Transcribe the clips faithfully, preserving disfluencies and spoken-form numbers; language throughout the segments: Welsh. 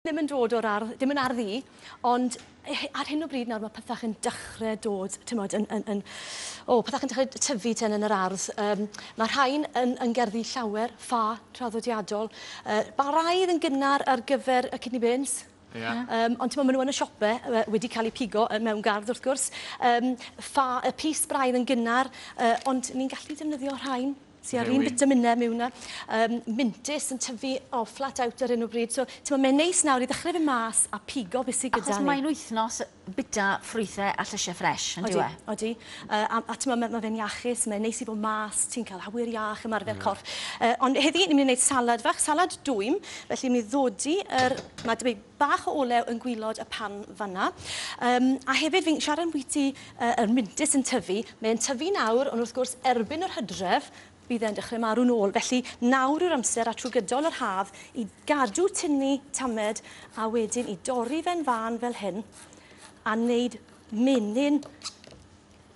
Ddim yn dod o'r ardd, dim yn ardd i, ond ar hyn o bryd nawr mae pethach yn dechrau dod, ti'mod, yn, yn, yn, o, pethach yn dechrau tyfu ten yn yr ardd. Um, mae rhain yn, yn gerddi llawer, ffa traddodiadol. Uh, braidd yn gynnar ar gyfer y kidney beans. Yeah. Um, ond ti'n maen nhw yn y siope wedi cael eu pigo mewn gardd wrth gwrs. Um, ffa, y pys braidd yn gynnar, uh, ond ni'n gallu defnyddio rhain sy ar un vitamine mewn 'na. Um, mintys yn tyfu o flat out ar hyn o bryd. So, ti'n mae'n neis nawr i ddechrau fe mas a pigo beth sydd gyda Achos ni. Mae'n wythnos bita ffrwythau a llysiau ffres, yn dyw e? Odi. Uh, a, a ti'n ma, mae fe'n iachus, mae'n neis i fod mas, ti'n cael awyr iach, ymarfer mm. corff. Uh, ond heddi, ni'n mynd i wneud salad fach, salad dwym, felly ni'n mynd i ddodi yr, mae debyg bach o olew yn gwylod y pan fanna. Um, a hefyd, fi'n siarad ambwyty uh, yr mintys yn tyfu, mae'n tyfu nawr, ond wrth gwrs, erbyn yr hydref, bydd e'n dechrau marw nôl. Felly nawr yw'r amser a trwy gydol yr haf i gadw tynnu tamed a wedyn i dorri fe'n fan fel hyn a wneud menyn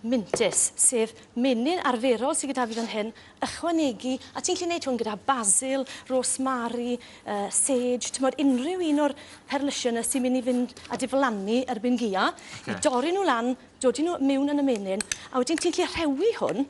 mintys, sef menyn arferol sydd gyda fi fan hyn, ychwanegu, a ti'n gallu gwneud hwn gyda basil, rosemary, uh, sage, ti'n unrhyw un o'r perlysiau yna sy'n mynd i fynd a diflannu erbyn gia, okay. I dorri nhw lan, dodi nhw mewn yn y menyn, a wedyn ti'n gallu rhewi hwn,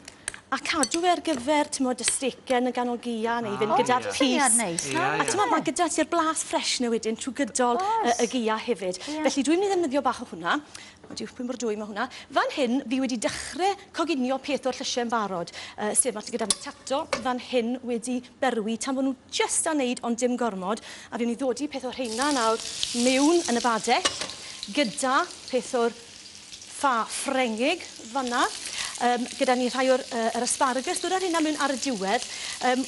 a cadw fe ar gyfer, ti'n modd, y stecen yn ganol gia, neu fynd gyda'r pys. Neis, yeah, a ti'n modd, mae gyda ti'r blas ffres na wedyn trwy gydol y, y gia hefyd. Yeah. Felly dwi'n mynd i ddefnyddio bach o hwnna. Wedi pwy mor dwy mae hwnna. Fan hyn, fi wedi dechrau coginio peth o'r llysiau'n barod. Uh, sef, mae gyda tato fan hyn wedi berwi, tan bod nhw jyst a wneud, ond dim gormod. A fi'n mynd i ddodi peth o'r rheina nawr mewn yn y badell, gyda peth o'r ffa Ffrengig fanna. Um, gyda ni rhai o'r uh, yr asparagus, dod ar hynna mewn ar y diwedd. Um,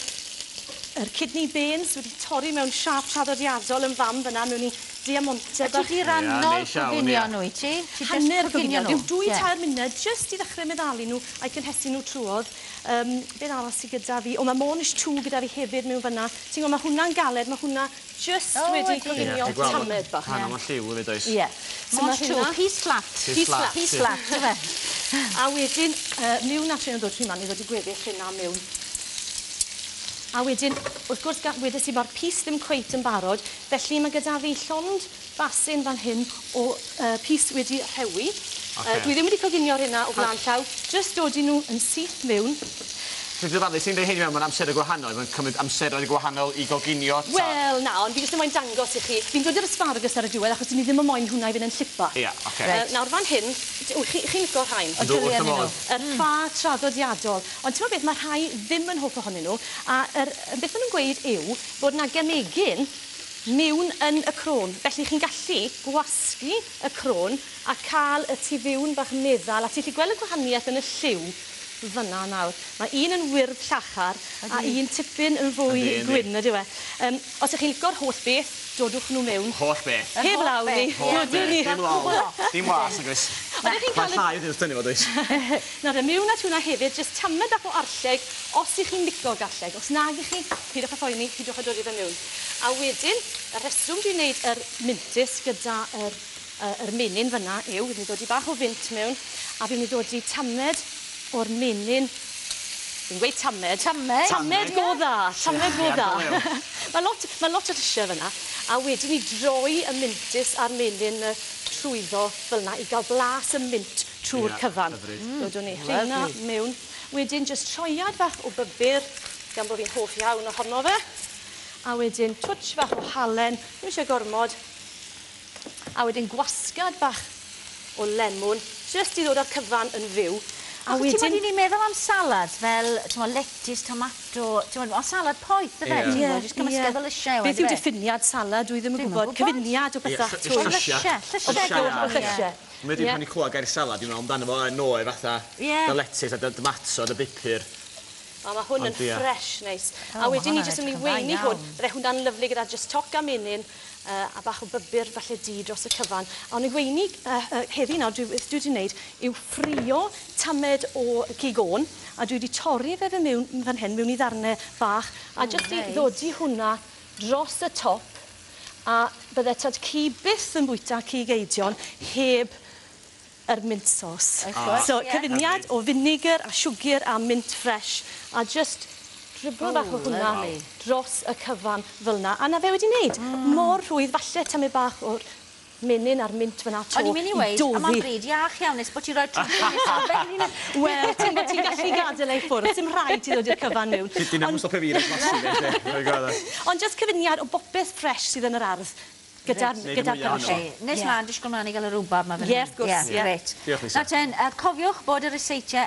yr kidney beans wedi torri mewn siâp traddodiadol yn fam fyna mewn i diamante bach. Ti di rannol coginio nhw i ti? Hanner coginio nhw. Dwy tair munud jyst i ddechrau meddalu nhw a'i cynhesu nhw trwodd. Um, beth arall sydd gyda fi? O, mae Mornish two gyda fi hefyd mewn fyna. Ti'n gwybod, mae hwnna'n galed, mae hwnna just oh, wedi coginio tamed bach. Rhan o'n lliw hefyd oes. Ie. Mornish two, piece flat. Piece flat. Piece flat, ife. A wedyn, uh, mewn at rhain o ddod trwy man, i ddod i gweddill hynna mewn. A wedyn, wrth gwrs, wedes i mae'r pys ddim cweit yn barod, felly mae gyda fi llond basin fan hyn o uh, pys wedi rhewi. Okay. Uh, dwi ddim wedi coginio'r hynna o flaen llaw, jyst dodi nhw yn syth mewn. Ti'n ddiddorol, ti'n dweud hyn mewn, mae'n amser gwahanol, mae'n cymryd amseroedd gwahanol i goginio. Wel, na, ond fi jyst yn moyn dangos i chi. Fi'n dod i'r asparagus ar y diwedd, achos ni ddim yn moyn hwnna i fynd yn llipa. Ia, yeah, oce. Okay. Uh, nawr fan hyn, chi'n chi licio rhain? Yndw, wrth y modd. Yr ffa traddodiadol. Ond ti'n gwybod beth, mae rhai ddim yn hoff ohonyn nhw, a yr, beth maen nhw'n gweud yw bod na gemegyn mewn yn y crôn. Felly chi'n gallu gwasgu y crôn a cael y tu fewn bach meddal, a ti'n gallu gweld y gwahaniaeth yn y lliw fyna nawr. Mae un yn wyrdd llachar a un tipyn yn fwy gwyn, ydyw e. Um, os ych chi'n licio'r holl beth, dodwch nhw mewn. Holl beth. Heb law ni. Dodwn ni. Dim law. Dim was, nag oes. Mae'n llai wedyn wrth dynnu fo, does? Nawr, mewn at hwnna hefyd, jyst tamed bach o arlleg, os ych chi'n licio garlleg. Os nag ych chi, pidwch â phoeni, pidwch â dod i fe mewn. A wedyn, y rheswm dwi'n gwneud yr mintys gyda yr, yr menyn fyna yw, fi'n mynd i dod i bach o fint mewn, a fi'n mynd i dod i tamed o'r menyn, fi'n gweud tamed. Tamed? Tamed go dda, tamed go dda. Mae lot, mae lot o llysiau fyna. A wedyn i droi y mintys a'r menyn trwyddo fel yna i gael blas y mint trwy'r cyfan. Dodwn ni rheina mewn. Wedyn jyst troiad fach o bybyr, gan bod fi'n hoff iawn ohono fe. A wedyn twtsh fach o halen, ddim eisiau gormod. A wedyn gwasgad bach o lemwn, jyst i ddod â'r cyfan yn fyw. A wedyn... Ti'n ni'n meddwl am salad fel, ti'n meddwl, lettuce, tomato, ti'n meddwl, o salad poeth, yfe? Ie, ie. Jyst cymysgedd o lysiau. Beth yw diffiniad salad? Dwi ddim yn gwybod. Cyfuniad o bethau. Llysiau. Llysiau. Llysiau. Mae wedi pan i clywed gair salad, dwi'n meddwl amdano fo yn oer fatha, dy lettuce a dy tomato, dy bupur. A mae hwn yn ffres neis. A wedyn ni jyst yn mynd i weini hwn. Bydde hwnna'n lyfli gyda jyst toc a menyn a bach o bybyr falle du dros y cyfan. A o'n i weini heddi nawr, dwi wedi wneud yw ffrio tamed o cig ôn, a dwi wedi torri fe fe mewn fan hyn, mewn i ddarnau bach, a jyst i ddodi hwnna dros y top, a bydde tad ci byth yn bwyta cig eidion heb yr mint sauce. Oh, so, yeah. Cyfuniad o vinegar a siwgr a mint fresh, a just driblo bach o Oh, hwnna lovely. dros y cyfan fel 'na. A 'na fe wedi wneud. Mor rhwydd, falle tamed bach o'r menyn a'r mint fyna 'to. O'n i'n mynd i weud, a mae'n doddi. bryd iach iawn, nes bod ti'n rhoi trwmpyn nesaf ben i Wel, ti'n bod ti'n gallu gadael ei ffwrdd, dim rhaid ti ddod i'r cyfan mewn. Dyna mwyn stopio fi rhaid blasu fe. Ond jyst cyfuniad o bopeth ffres sydd yn yr ardd gyda'r Neud y gyda'r mwya ohono fo. perlysiau. Nes Ie. mlaen, disgwyl mlaen i gael y rwbab 'ma fan Ie, hyn. wrth gwrs, ie. Grêt. Diolch, Lisa. Nawr ten, uh, cofiwch bod y ryseitiau